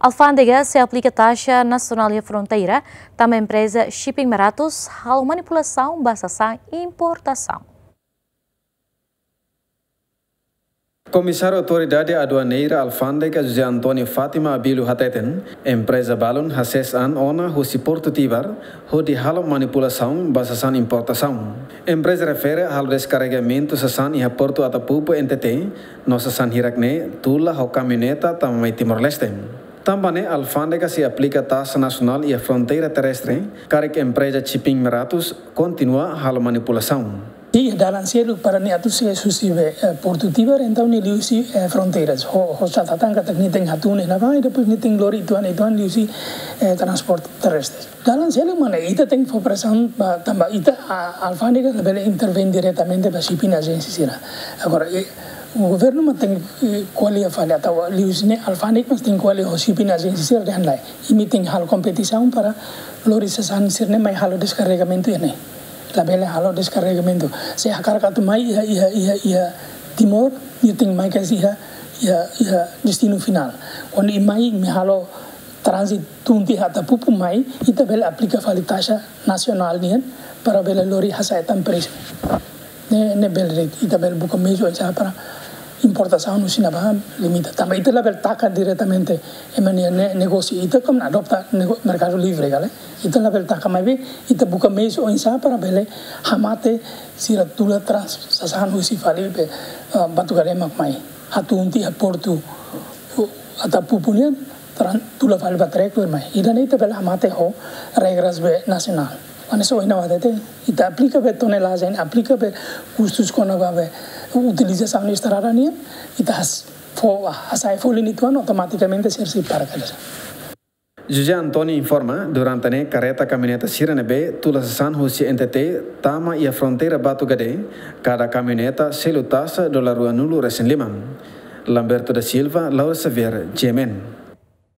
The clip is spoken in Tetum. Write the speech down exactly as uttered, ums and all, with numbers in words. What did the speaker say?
Alfándega sei aplika taxa nasionál iha fronteira, tanba empreza Shipping Maratus halo manipulasaun ba sasán importasaun. Komisáriu Autoridade Aduaneira Alfándega José António Fátima Abílio hateten, empreza balun hasees an ona husi Portu Tibar, hodi halo manipulasaun ba sasán importasaun. Empreza refere halo deskarregamentu sasán iha Portu Atapupu N T T, no sasán hirak-ne'e tula ho kamioneta tama mai Timor-Leste. Tanba ne'e alfándega sei aplika taxa nasionál iha fronteira terrestre, karik empreza Shipping Maratus kontinua halo manipulasaun. Iha dalan seluk para nia atu sees husi be, eh, Portu Tibar, entaun nia liuhusi, eh, fronteiras. Ho, ho catatan katak nia tenke hatún iha ne'ebá, i depois nia tenke lori uitoan, uitoan liuhusi, eh, transporte terrestre. Dalan seluk mak ne'e, ita tenke fó presaun ba, tanba ita, a, alfándega labele intervein diretamente ba shipping agency sira. Agora, eh, governu mak tenke, eh, ko'alia fali, atau liuhusi ne'e alfándega mak tenke ko'alia ho shipping agency sira dehan lae, imi tenke halo kompetisaun para lori sasán sira-ne'e mai halo deskarregamentu iha ne'e. Labele halo deskarregamentu. Se hakarak atu mai iha, iha, iha, iha Timor, nia tenke mai ka iha, iha, iha destinu finál. Kuandu imi mai, imi halo tránzitu tun tiha Atapupu mai, ita bele aplika fali taxa nasionál nian para bele lori hasa'e tan presu. Ne'e, ne'e bele de'it, ita bele buka meius oinsá para importasaun husi ne'ebá limita. Tanba ita labele taka diretamente ema nia ne-, negósiu, ita kan adopta nego-, merkadu livre ka lae. Ita labele taka, maibé ita buka meius oinsá para bele hamate sira tula trans sasán husi fali be, ah, Batugade mak mai. Hatún tiha Portu, uh, Atapupu nian, tran-, tula fali ba Trecler mai. Ida-ne'e ita bele hamate ho regras be nasionál. Maibé ohin ha'u hatete, ita aplika be tonelajen, aplika be kustus kona-ba be utilizasaun estrada nian, ita has-, fó, hasa'e folin uitoan, automatikamente sira sei para kedas. José António informa, durante ne'e kareta kamioneta sira ne'ebé tula sasán husi N T T tama iha fronteira Batugade, kada kamioneta selu taxa dolar ruanulu-resin-lima. Lamberto da Silva, Laura Xavier, G M N.